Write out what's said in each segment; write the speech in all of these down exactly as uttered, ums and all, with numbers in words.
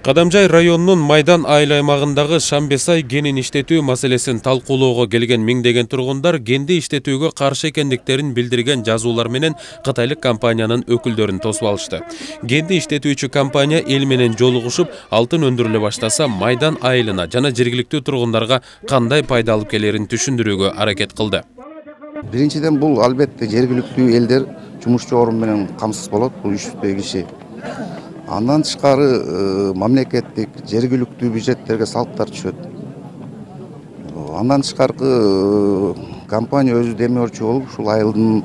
Кадамжай районунун Майдан айыл аймагындагы Шамбесай кенин иштетүү маселесин талкуулоого келген миңдеген тургундар кенди иштетүүгө каршы экендиктерин билдирген жазуулар менен кытайлык компаниянын өкүлдөрүн тосуп алышты. Кенди иштетүүчү компания эл менен жолугушуп, алтын өндүрүлө баштаса Майдан айылына жана жергиликтүү тургундарга кандай пайда алып келерин түшүндүрүүгө аракет кылды. Биринчиден бул албетте жергиликтүү элдер жумушчу орун менен камсыз болот, бул үч жүздөй киши. Андан тышкары мамлекеттик жергиликтүү бюджеттерге салыктар түшөт. Андан тышкары компания өзү демөөрчү болуп, ушул айылдын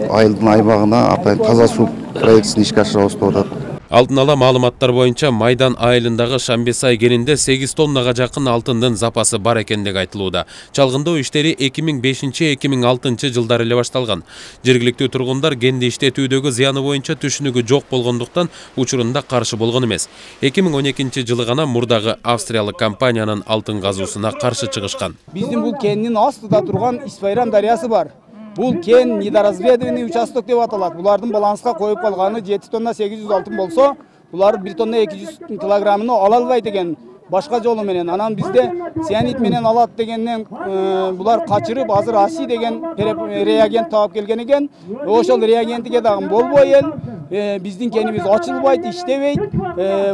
айылдын аймагына атайын таза суу проектисин ишке ашырабыз деп атат. Алдын ала маалыматтар боюнча Майдан айылындагы Шамбесай кенинде сегиз тоннага жакын алтындын запасы бар экендиги айтылууда. Чалгындоо иштери эки миң бешинчи — эки миң алтынчы жылдары эле башталган. Жергиликтүү тургундар кенди иштетүүдөгү зыяны боюнча түшүнүгү жок болгондуктан учурунда каршы болгон эмес. эки миң он экинчи жылы гана мурдагы австриялык компаниянын алтын казуусуна каршы чыгышкан. Биздин бул кендин астында турган Исфайрам дарыясы бар. Бул кен недоразведованный участок деп аталат. Булардын баланска коюп калганы жети тонна сегиз жүз алтын болсо, булар бир тонна эки жүз килограммын ала албайт экен башка жолу менен. Анан бизде цианид менен алат дегенден булар качырып, азыр аси деген реагент таап келген экен. Ошол реагентиге дагы болбой эл биздин кенибиз ачылбайт, иштебейт.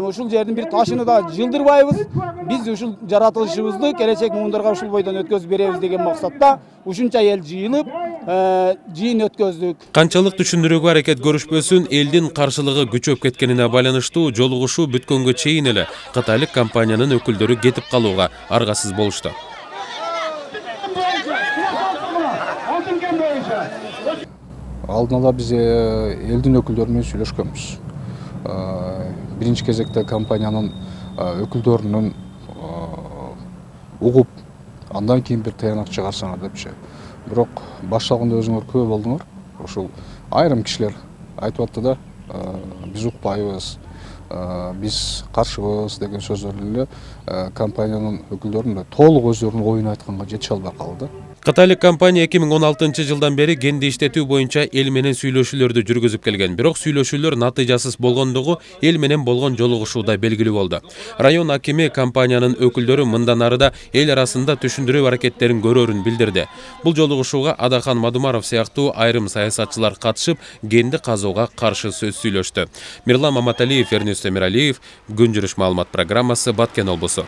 Ушул жердин бир ташыны да жылдырбайбыз. Биз ушул жаратылышыбызды келечек муундарга ушул бойдон өткөзүп беребиз деген максатта ушунча эл жыйылып жыйын өткөздүк. Канчалык түшүндүрүүгө аракет көрүшпөсүн, элдин каршылыгы күчөп кеткенине байланыштуу жолугушуу бүткөнгө чейин эле кытайлык компаниянын өкүлдөрү кетип калууга аргасыз болушту. Алдын ала биз элдин өкүлдөрү менен сүйлөшкөнбүз. Биринчи кезекте компаниянын өкүлдөрүнүн угуп, андан кийин бир таянак чыгарсаңар депчи. Бирок башталганда өзүңөр күбө болдуңор. Ушул айрым кишилер айтып атты да, биз укпайбыз, биз каршыбыз деген сөздөрдү эле компаниянын өкүлдөрүнүн толук өздөрүнүн оюн айтканга жете албай калды. Кытайлык компания эки миң он алтынчы жылдан бери кенди иштетүү боюнча эл менен сүйлөшүүлөрдү жүргүзүп келген. Бирок сүйлөшүүлөр натыйжасыз болгондугу эл менен болгон жолугушууда белгилүү болду. Район акими компаниянын өкүлдөрү мындан арыда эл арасында түшүндүрүү аракеттерин көрөрүн билдирди. Бул жолугушууга Адахан Мадумаров сыяктуу айрым саясатчылар катышып, кенди казууга каршы сөз сүйлөштү. Мирлан Маматалиев, Эрнест Эмиралиев, Күн жүрүш маалымат программасы, Баткен облусу.